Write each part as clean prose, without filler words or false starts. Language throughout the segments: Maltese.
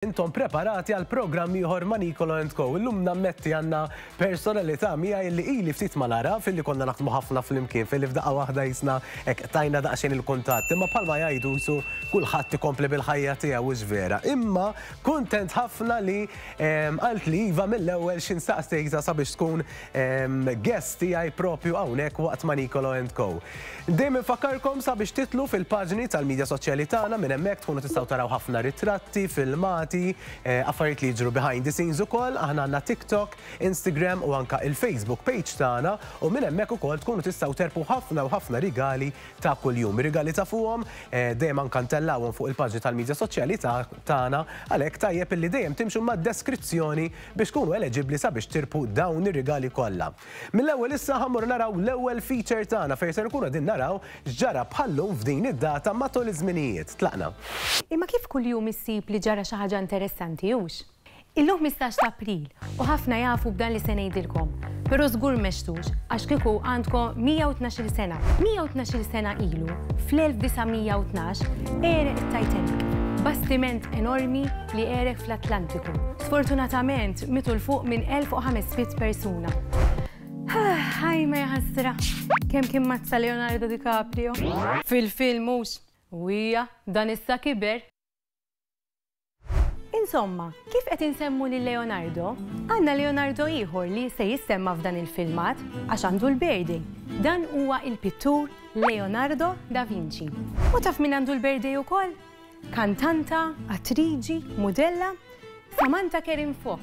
Intom preparati għal programm ieħor ma' Nicolo and Co. Illum nammetti għandna personalità miegħi li ili ftit ma nara filli konna naħdmu ħafna flimkien filli f'daqqa waħda jisna hekk tajna daqsxejn il-kuntatt. Imma bħalma jgħidu jisu kulħadd ikompli bil-ħajja tiegħu hux vera. Imma kuntent ħafna li qalt li iva mill-ewwel x'in staqsejtha sabiex tkun guest tiegħi propju hawnhekk waqt ma' Nicolo and Co. Dejjem infakkarkom sabiex titlu fil-paġni tal-midja soċjali tagħna minn hemmhekk tkunu tistgħu taraw ħafna ritratti, filmati, eh, affarijiet li jiġru behind the scenes ukoll. Aħna għandna TikTok, Instagram u anka il-Facebook page tagħna u minn hemmhekk ukoll tkunu tistgħu terpu ħafna u ħafna rigali ta' kuljum. Rigali ta' fuqhom eh, dejjem anka ntellawhom fuq il-paġni tal-midja soċjali tagħna għalhekk tajjeb illi dejjem timxu mad-deskrizzjoni biex tkunu eleġibbli sabiex tirpu dawn ir-rigali kollha. Mill-ewwel issa ħa mmorru naraw l-ewwel feature tagħna fejn ser nkunu qegħdin naraw x'ġara bħal-lum f'din id-data matul iż-żminijiet. Tlaqna. Imma kif kuljum issib li ġara xi ħaġa interessanti, hux? Illum 15 ta' April u ħafna jafu b'dan li se ngħidilkom, però żgur m'għextux għax kieku għandkom 112-il sena. 112-il sena ilu, fl-1912, għereq it-Titanic, bastiment enormi li għereq fl-Atlantiku. Sfortunatament, mietu 'l fuq minn 1,500 persuna. Ħaj ma jaħasra, kemm kien mazza Leonardo DiCaprio. Fil-film hux. U hija, dan issa kiber. Insomma, kif qed insemmu lil Leonardo, għandna Leonardo ieħor li se jissemma f'dan il-filmat għax għandu l-birthday. Dan huwa il-pittur Leonardo da Vinci. U taf min għandu l-birthday ukoll? Kantanta, attriġi, mudella, Samantha Kerrin Fox.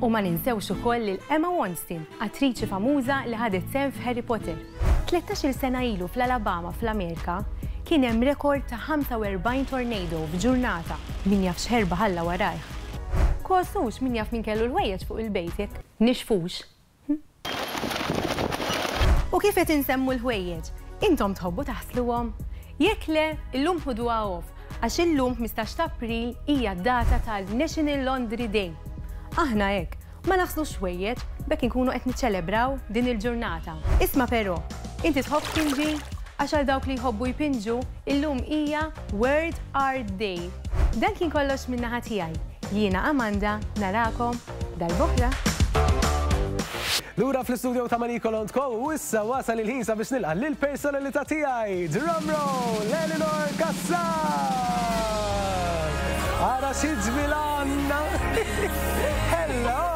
U ma ninsewx ukoll lil Emma Wonston, attriċi famuża li ħadet sehem f'Harry Potter. Tlettax-il sena ilu fl-Alabama fl-Amerika kien hemm rekord ta' 45 tornado f'ġurnata. Min jaf x'ħerba ħalla warajh. Kos hux, min jaf min kellu l-ħwejjeġ fuq il-bejt jekk nixfux. U kif qed insemmu l-ħwejjeġ, intom tħobbu taħsluhom? Jekk le, illum ħuduha off, għax illum 15 ta' April hija d-data tal-National Laundry Day. Aħna hekk, ma naħslux ħwejjeġ, b'hekk inkunu qed niċċelebraw din il-ġurnata. Isma' però, inti tħobb tpinġi? Għax għal dawk li jħobbu jpinġu, illum hija World Art Day. Dan kien kollox min-naħa tiegħi. Jiena Amanda, narakom darb'oħra. Lura fl-istudio ta' Marie Colont Co. U issa wasal il-ħin sabiex nilqa' lill-personalità tiegħi. Drum roll, Eleanor Cassar! Ara xi ġmiel għandna! Hello!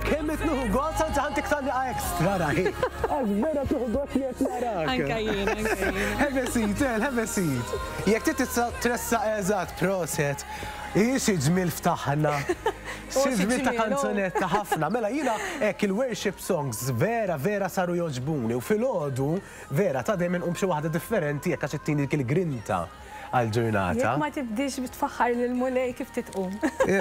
Kemm qed nieħu gost anzi ħantik tgħanniqa extra rahi. Għax vera tieħu gost li qed narak. Anka jien, anka jien. Have a seat, El, have a seat. Jekk trid tista' tressaq eżatt, proset. Hi xi ġmiel ftaħna. Xi ġmiel ta' kanzunetta ħafna. Mela jiena hekk il-worship songs vera vera saru jogħġbuni u filgħodu vera ta' dejjem inqum b'xi waħda differenti hekk għax ittini dik il-grinta għall-ġurnata. Jekk ma tibdiex tfaħħar lill-Mulej kif titqum?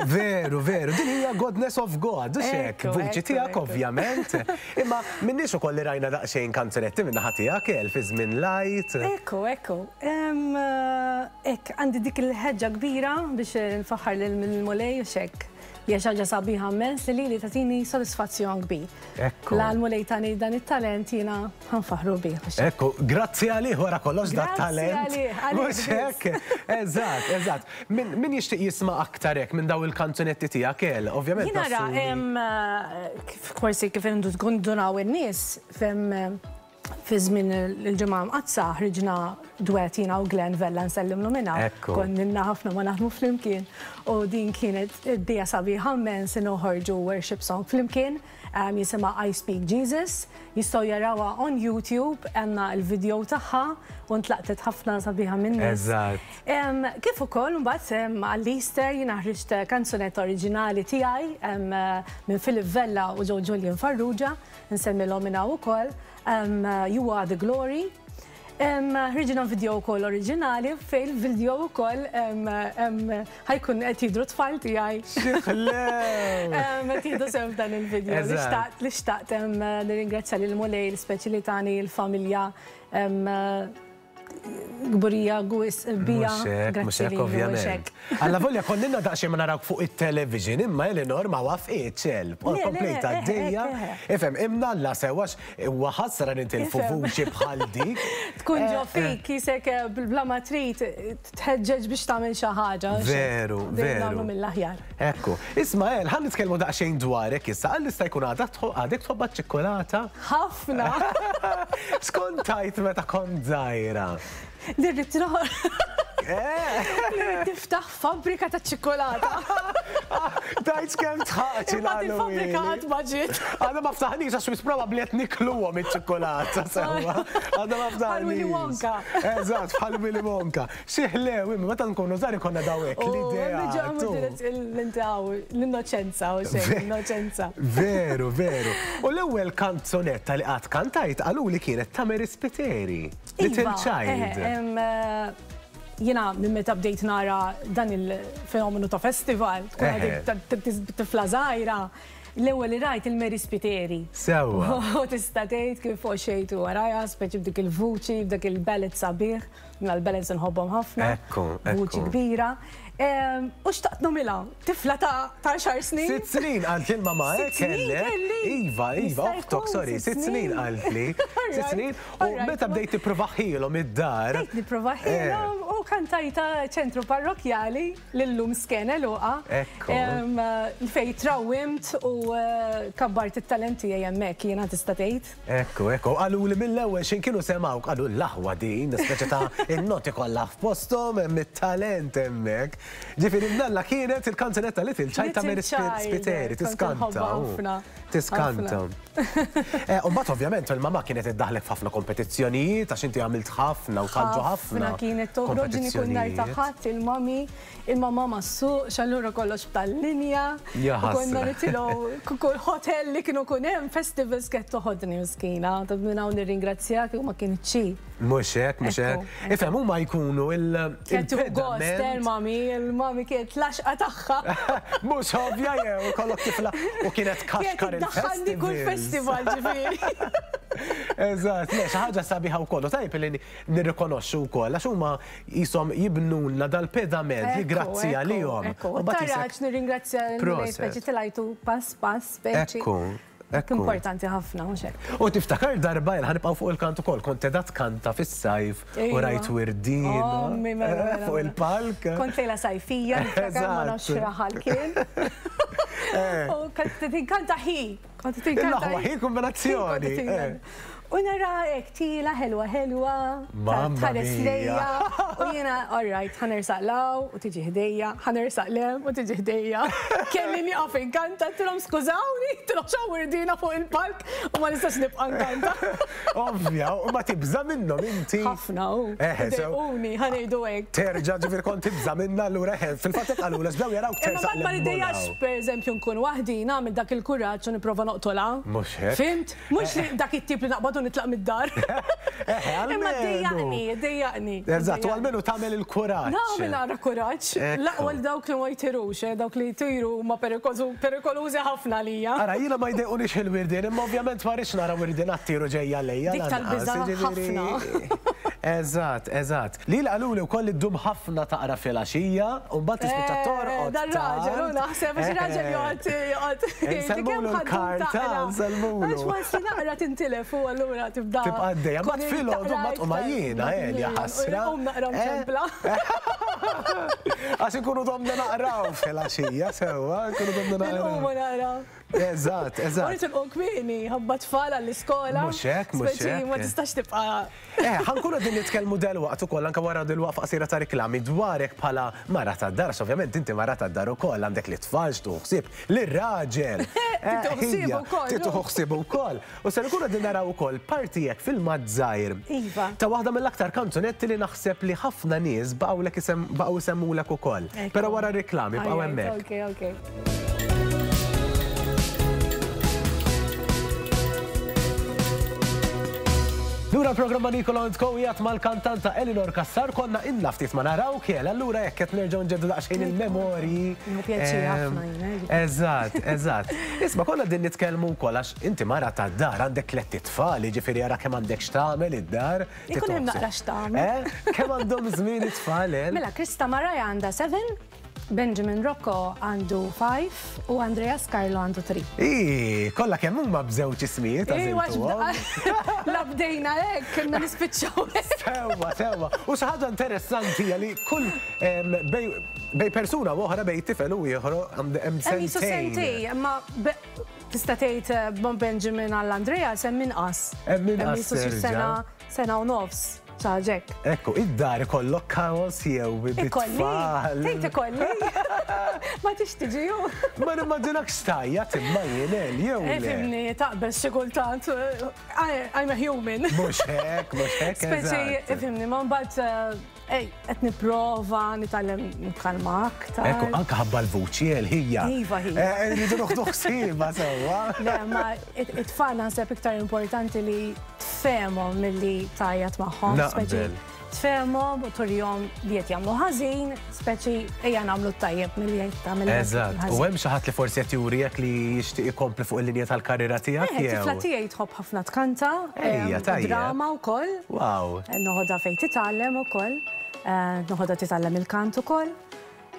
Veru, veru. Din hija godness of God, hux hekk? Vuċi tiegħek ovvjament. Imma m'inniex ukoll li rajna daqsxejn kanzunetti min-naħa tiegħek, El, fi żmien l-Għid. Ekku, ekku. Hekk, għandi dik il-ħeġġa kbira biex nfaħħar lill-Mulej u x'hekk. Hija xi ħaġa sabiħa mmens li lili tagħtini sodisfazzjon kbir. Ekku. La l-Mulej tani dan it-talent jiena ħa nfaħħru bih. Ekku, grazzi għalih wara kollox dat-talent. Grazzi għalih, għalih. Mhux hekk? Eżatt, eżatt. Min jixtieq jisma' aktar hekk minn dawn il-kanzunetti tiegħek, El, ovvjament. Jien ara, forsi kif indunaw in-nies, fem fi żmien il-Ġimgħa Mqaddsa ħriġna duet jiena u Glenn Vella nsellimlu minn hawn. Konna ħafna ma naħdmu flimkien u din kienet idea sabiħa mmens li noħorġu worship song flimkien jisimha I Speak Jesus. Jistgħu jarawha on YouTube għandna l-video tagħha u ntlaqtet ħafna sabiħa min-nies. Kif ukoll mbagħad għall-Easter jiena ħriġt kanzunetta oriġinali tiegħi minn Philip Vella u Joe Julian Farrugia. Nsemmilhom minn hawn ukoll, You Are The Glory. Ħriġna video wkoll oriġinali fejn il-video wkoll ħajkun qed jidhru tfal tiegħi. Xi ħlew! Qed jieħdu sehem f'dan il-video. Li xtaqt li xtaqt nirringrazzja lil Mulej speċi li tani l-familja. Kburija gwis bija. Mhux hekk, ovvjament. Alla volja konninna daqsxejn ma narawk fuq it-television, imma Eleanor ma wafqitx help. Komplejt għaddejja. Ifhem, imnalla sew għax huwa ħasra nitilfu vuċi bħal dik. Tkun ġo fik jisek bla ma trid tħeġġeġ biex tagħmel xi ħaġa. Veru, veru. Nagħmlu mill-aħjar. Ekku. Isma' El, ħa nitkellmu daqsxejn dwarek issa. Għal jista' jkun għadek tħobbha ċ-ċikkulata? Ħafna! X'kont tgħid meta kont żgħira? Li rrid Li rrid tiftaħ fabbrika ta' ċikkulata. Tgħidx kemm tħaqx il Il-fabbrika qatt ma ġiet. Għadha ma ftaħniex għax wis probabbli qed nikluhom iċ-ċikkulata sewwa. Għadha ma ftaħniex. Bħal Willy Wonka. Eżatt, bħal Willy Wonka. Xi ħlew imma meta nkunu żgħar ikollna daw hekk l-idea. L-innoċenza u xejn, l-innoċenza. Veru, veru. U l-ewwel kanzunetta li qatt kantajt qaluli kienet ta' Mary Spiteri, Little Child. Jiena minn meta bdejt nara dan il-fenomenu ta' festival, tkun għadek tifla żgħira, l-ewwel li rajt il-Mary Spiteri. Sewwa. U tista' tgħid kif għoxejtu warajha, speċi b'dik il-vuċi, b'dak il-ballad sabiħ. Jiena l-ballads inħobbhom ħafna. Ekku, ekku. Vuċi kbira. U xtaqt nagħmilha, tifla ta' għaxar snin. Sitt snin qaltli l-mamà, eh, kellek. Iva, iva, oħtok, sorry, sitt snin qaltli. Sitt snin. U meta bdejt tipprovaħilhom id-dar. Bdejt nipprovaħilhom u kantajta ċentru parrokkjali l-lum skene Luqa. Ekku. Fejn trawwimt u kabbart it-talent tiegħi hemmhekk jiena tista' tgħid. Ekku, ekku. Qaluli mill-ewwel x'in kienu semgħuk, qalu l-aħwa din, speċi ta' in-noti kollha f'posthom, hemm it-talent hemmhekk. Ġifieri mnalla kienet il-kanzunetta Little Child ta' Mary Spiteri, tiskanta. Tiskanta. U mbagħad ovvjament il-mamà kienet iddaħħlek f'ħafna kompetizzjonijiet għax inti għamilt ħafna u tħallġu ħafna. Ħafna kienet toħroġni kull nhar ta' Ħadd il-mami. Il-mamà ma ssuqx, allura kollox b'tal-linja. U konna nitilgħu kull hotel li kienu kun hemm, festivals kienet toħodni miskina. Ta' minn hawn nirringrazzjaha kieku ma kinitx hi. Mhux hekk, mhux hekk. Ifhem, huma jkunu il. Kienet tieħu gost, eh, il-mami, il-mami kienet l-għaxqa tagħha. Mhux ovvja jew ikollok tifla u kienet tkaxkar il-festivals. Kienet iddaħħalni kull festival ġifieri. Eżatt, le, xi ħaġa sabiħa wkoll. U tajjeb li nirrikonoxxu wkoll għax huma qishom jibnulna dal-pedament li grazzi għalihom. Ekku, ekku. Taraġ nirringrazzja l-Mulej speċi tilajtu pass pass speċi. Ekku, ekku. Importanti ħafna, mhux hekk. U tiftakar darba, ħa nibqgħu fuq il-kant ukoll, kont qiegħda tkanta fis-sajf u rajt wirdiena Ommi, mela, mela, fuq il-palk. Kont lejla sajfija, niftakar ma nafx x'raħal kien. U kont tinkanta ħi. Kont tinkanta. L-aħwa ħi kombinazzjoni. U nara hekk tila ħelwa ħelwa, tħares lejja, u jiena all right, ħa nersaq 'l hawn u tiġi ħdejja, ħa nersaq 'l hemm u tiġi ħdejja. Kelli nieqaf inkanta, għedtilhom skużawni, għedtilhom x'hawn wirdiena fuq il-palk u ma nistax nibqa' nkanta. Ovvja, u ma tibża' minnhom inti? Ħafna hu. Idejquni, ħa ngħidu hekk. Terġa' ġifieri kont tibża' minnha allura eħe, fil-fatt hekk qalulha bdew jarawk tersaq 'l hemm. Imma mbagħad ma niddejjaqx pereżempju nkun waħdi, nagħmel dak il-kuraġġ u nipprova noqtolha. Mhux hekk. Fhimt? Mhux li dak it-tip li naqbad u nitlaq mid-dar. Imma ddejjaqni, ddejjaqni. Eżatt, u almenu tagħmel il-kuraġġ. Nagħmel naqra kuraġġ. L-aqwa li dawk li ma jtirux, eh, dawk li jtiru huma perikolużi ħafna għalija. Ara, jiena ma jdejqunix il-wirdien, imma ovvjament ma rridx nara wirdien għat-tir u ġejja lejja. Dik tal-biża' ħafna. Eżatt, eżatt. Lili qaluli wkoll li ddum ħafna taqra filgħaxija u mbagħad tispiċċa torqod. Dan raġel, u naħseb għax raġel joqgħod joqgħod. Insellmulu l-karta, insellmulu. Għax once li naqra tintilef u allura tibda. Tibqa' għaddejja, mbagħad filgħodu mbagħad tqum għajjiena, Elja ħasra. Inqum naqra mċempla. Għax inkunu domna naqraw filgħaxija sewwa, nkunu domna naqraw. Inqumu naqraw. Eżatt, eżatt. U nitilqu kmieni, ħabba tfal għall-iskola. Mhux hekk, mhux hekk. Ma tistax tibqa' Eh, ħa nkunu qegħdin nitkellmu delwaqt ukoll anke wara dil-waqfa qasira ta' riklami dwarek bħala mara tad-dar, għax ovvjament inti mara tad-dar ukoll, għandek lit-tfal x'tuħu ħsieb, lir-raġel. Tieħu ħsiebu wkoll. Tieħu ħsiebu wkoll. U ser nkunu qegħdin naraw ukoll parti hekk filmat żgħir. Iva. Ta' waħda mill-aktar kanzunetti li naħseb li ħafna nies baqgħulek baqgħu jsemmulek ukoll. Però wara r-riklami bqgħu hemmhekk. Ok, ok. Lura l-programma Nicolo and Co qiegħed mal-kantanta Eleanor Cassar konna ilna ftit ma narawk jel, allura jekk qed nerġgħu nġeddu daqsxejn il-memorji. Nieħu pjaċir ħafna jien. Eh, eżatt, eżatt. Isma' konna din nitkellmu wkoll għax inti mara tad-dar għandek tlett itfal, jiġifieri ara kemm għandek x'tagħmel id-dar. Ikun hemm naqra x'tagħmel. Eh? Kemm għandhom żmien it-tfal, eh? Mela Krista Maraja għandha 7, Benjamin Rocco għandu 5 u Andreas Carlo għandu 3. Ii, kollha kemm huma b'żewġ ismijiet għażiltuhom. La bdejna hekk, kienna nispiċċaw. Sewwa, sewwa. U xi ħaġa interessanti hija li kull bej persuna u oħra bej tifel u ieħor hemm sentejn. Sentej, imma tista' tgħid eh, bon Benjamin għall Andreas hemm inqas. Hemm inqas. Sena sena u nofs. Ċaġek. Ekku, id-dar ikollok kaos jew bit-tfal. Tgħid ikolli. Ma tix tiġi ju. Ma nimmaġinakx tajjat imma jien El jew le. Fimni, taqbeż xi kultant. I'm a human. Mhux hekk, mhux hekk. Speċi, fimni, ma mbagħad eh, qed nipprova nitgħallem nitkalma aktar. Ekku, anke ħabba l-vuċi El ħija. Iva ħija. Eh, rridu noħdu ħsiebha sewwa. Le, ma it-tfal naħseb iktar importanti li tfehmhom milli tgħajjat magħhom. Speċi tfehmhom u turihom li qed jagħmlu ħażin, speċi ejja nagħmlu t-tajjeb milli qed tagħmel. Eżatt. U hemm xi ħadd li forsi qed jurijek li jixtieq ikompli fuq il-linja tal-karriera tiegħek jew? Tifla tiegħi tħobb ħafna tkanta. Ejja, tajjeb. Drama wkoll. Wow. Noħodha fejn titgħallem ukoll. Noħodha titgħallem il-kant ukoll.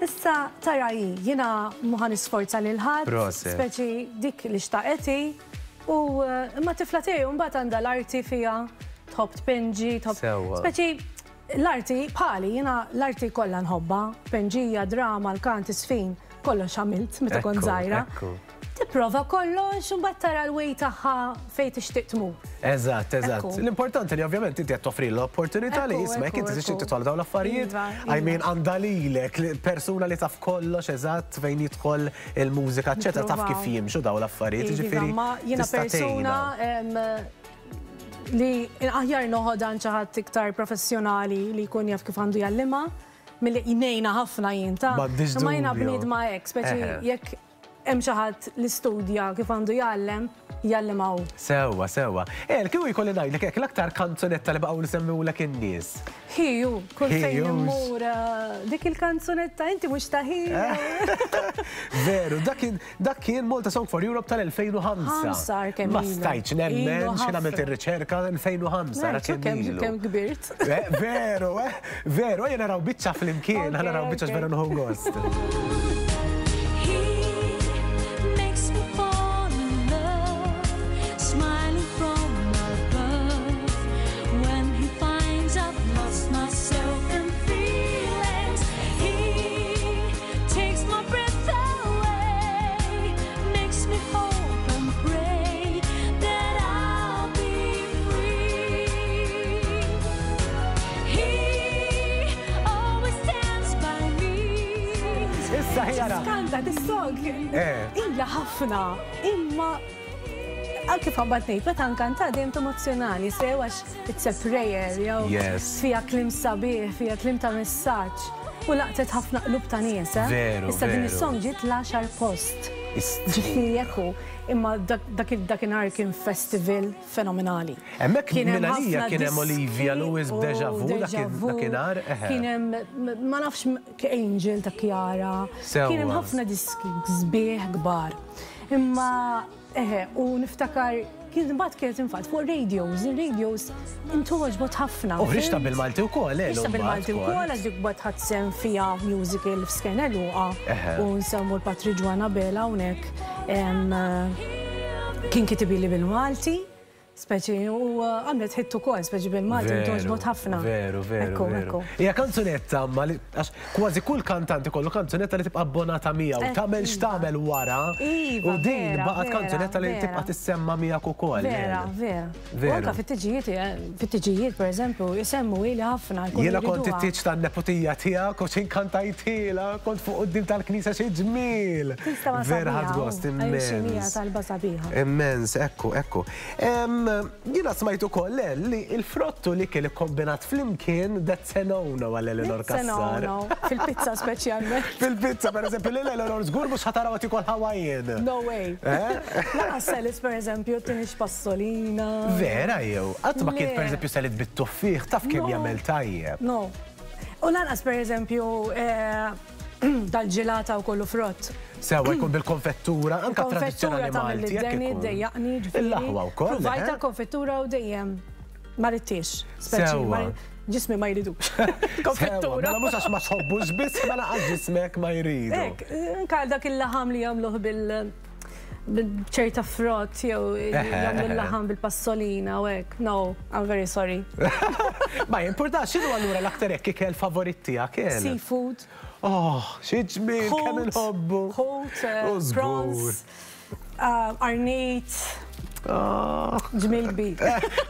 Issa tara hi, jiena mhu ħa nisforza lil ħadd, speċi dik li xtaqet hi, u imma t-tifla tiegħi mbagħad għandha l-arti fiha, tħobb tpinġi, tħobb. Speċi l-arti bħali, jiena l-arti kollha nħobbha, tpinġija, drama, l-kant, iż-żfin, kollox għamilt meta kont żgħira. Tipprova kollox u mbagħad tara l-way tagħha fejn tixtieq tmur. Eżatt, eżatt. L-importanti li ovvjament inti qed toffri l-opportunità li isma' jekk inti tixtieq titħol dawn l-affarijiet, I mean għandha lilek, persuna li taf kollox eżatt fejn jidħol il-mużika, eċċetera, taf kif jimxu dawn l-affarijiet, jiġifieri. Ma jiena persuna li aħjar noħodha għand xi ħadd iktar professjonali li jkun jaf kif għandu jgħallimha milli ngħinha ħafna jien ta' Imma jiena bniedma hekk, speċi jekk Hemm xi ħadd li studja kif għandu jgħallem, jgħallimha hu. Sewwa, sewwa. El, kieku jkolli ngħidlek hekk, l-aktar kanzunetta li baqgħu jsemmewlek in-nies? Hi hu, kull fejn immur dik il-kanzunetta inti mhux ta' hi. Veru, dak kien dak kien Malta Song for Europe tal-2005. Ħamsa kemm Ma stajtx nemmen x'ħin għamilt ir-riċerka 2005 ara kemm ilu. Kemm kbirt. Veru, eh, veru, ejja naraw biċċa flimkien, ħa naraw biċċa x'vera nieħu gost. Issa ħjara. Skanta dis-song. Eh. Ila ħafna, imma kif għabbat ngħid, meta nkanta dejjem emozzjonali, sew għax it's a prayer, jew fija klim sabiħ, fija klim ta' messaġġ. U laqtet ħafna qlub ta' nies, eh? Veru. Issa din is-song ġiet l-għaxar post. Ġifieri ekku, imma dak dakinhar kien festival fenomenali. Hemmhekk minn għalija kien hemm Olivia Lewis b'Deja Vu dakinhar. Kien hemm ma nafx Angel ta' Chiara. Kien hemm ħafna diski sbieħ kbar. Imma Eħe, u niftakar kien imbagħad kienet infatt fuq radios, ir-radios intgħoġbot ħafna. U ħriġtha bil-Malti wkoll, eh? Ħriġtha bil-Malti wkoll għax dik mbagħad ħadt sehem fiha musical f'Skena Luqa u nsemmu l-Patri Ġwann Abela hawnhekk kien kitibili bil-Malti. Speċi, u għamlet hit ukoll, speċi bil-Malti togħġbot ħafna. Veru, veru, veru. Hija kanzunetta ma li għax kważi kull kantant ikollu kanzunetta li tibqa' abbonata miegħu, tagħmel x'tagħmel wara. Iva, U din baqgħet kanzunetta li tibqa' tissemma miegħek ukoll. Vera, vera. U anke fit-tiġijiet, fit-tiġijiet pereżempju, isemmu ili ħafna. Jiena kont it-tieġ tan-neputija tiegħek u x'in kantajtilha, kont fuq quddiem tal-knisja xi ġmiel. Vera ħadt gost immens. Talba sabiħa. Immens, ekku, ekku. Jiena smajt ukoll eh, li l-frott u l-ikel ikkombinat flimkien that's a no-no għal Eleanor Cassar. That's a no-no. Fil-pizza speċjalment. Fil-pizza, per eżempju, lil Eleanor żgur mhux ħa taraw qed ikol Hawaiian. No way. Eh? Lanqas salads, per eżempju, tinix passolina. Vera jew? Qatt ma kilt per eżempju salad bit-tuffieħ, taf kemm jagħmel tajjeb. No. U lanqas per eżempju eh, dal-ġilata u kollu frott. Sewa jkun bil-konfettura, anka tradizzjonali Malti. Konfettura dejjaqni ġifieri. Il-laħwa wkoll. Provajt eh? konfettura u dejjem ma rittiex. Sewa. Ġismi ma jridux. Konfettura. Mela mhux għax ma tħobbux biss, mela għax ġismek ma jridu. Ek, anka dak il-laħam li jagħmluh bil ċerta frott jew jagħmlu l-laħam bil-passolina u hekk. No, I'm very sorry. Ma jimpurtax, x'inhu allura l-aktar hekk ikel favorit tiegħek? Seafood. Oh, xi ġmiel kemm inħobbu. Ħut, prawns, arnit. Oh. Ġmiel kbir.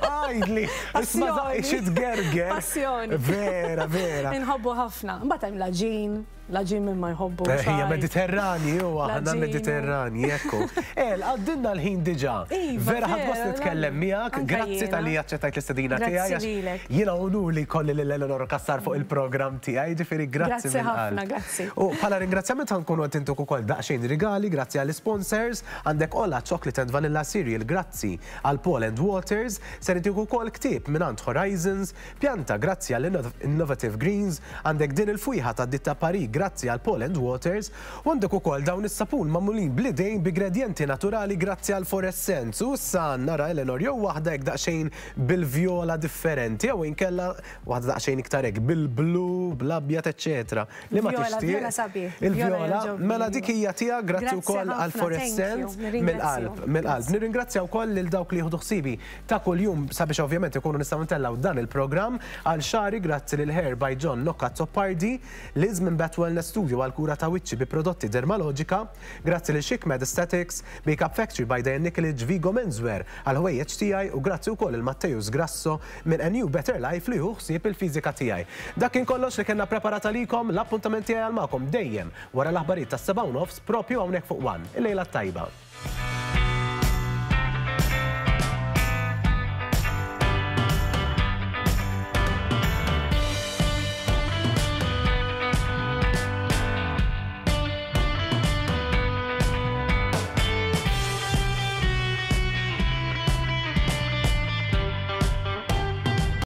Għajdli, isma xi tgerger. Passjoni. Vera, vera. Inħobbu ħafna. Mbagħad hemm l-għaġin. L-għaġin min ma jħobbu. Eh, hija Mediterrani, u aħna Mediterrani, ekku. El, għaddinna l-ħin diġà. Iva, Vera ħadd gost nitkellem miegħek, grazzi tal-li aċċettajt l-istedina tiegħi. Jiena unur li jkolli lil Eleonora Cassar fuq il-programm tiegħi, ġifieri grazzi. Grazzi ħafna, grazzi. U bħala ringrazzjament ħankunu qed intuk ukoll daqsxejn rigali, grazzi għall-sponsors, għandek Ola Chocolate and Vanilla Cereal, grazzi għal Paul and Waters, ser intik ukoll ktieb mingħand Horizons, Pjanta grazzi għal Innovative Greens, għandek din il-fwieħa tad-ditta Paris grazzi għal Paul and Waters, u għandek ukoll dawn is-sapun magħmulin bl-idejn b'igredjenti naturali grazzi għal Forest Scents. U issa nara Eleanor jew waħda hekk daqsxejn bil-vjola differenti jew inkella waħda daqsxejn iktar hekk bil-blu, bl-abjad eċċetera. Liema Vjola, tixtieq? vjola sabiħ. Il-vjola, mela dik hija tiegħek grazzi wkoll għal Forest Scents mill-qalb, mill-qalb. Nirringrazzja wkoll lil dawk li jieħdu ħsiebi ta' kuljum sabiex ovvjament ikunu nistgħu ntellgħu dan il-programm għal xagħri grazzi lil Hair by John Nocca Azzopardi, Liz minn Bat Wellness Studio għal kura ta' wiċċi bi prodotti Dermalogica, grazzi lil Chic Med Aesthetics, Makeup Factory by Diane Nikolic, Vigo Menswear għal ħwejjeġ tiegħi u grazzi wkoll lil Matteus Grasso minn A New Better Life li hu ħsieb il-fiżika tiegħi. Dak kien kollox li kellna preparat għalikom, l-appuntament tiegħi għal magħkom dejjem wara l-aħbarijiet tas-7:30 propju hawnhekk fuq one. Il-lejla t-tajba.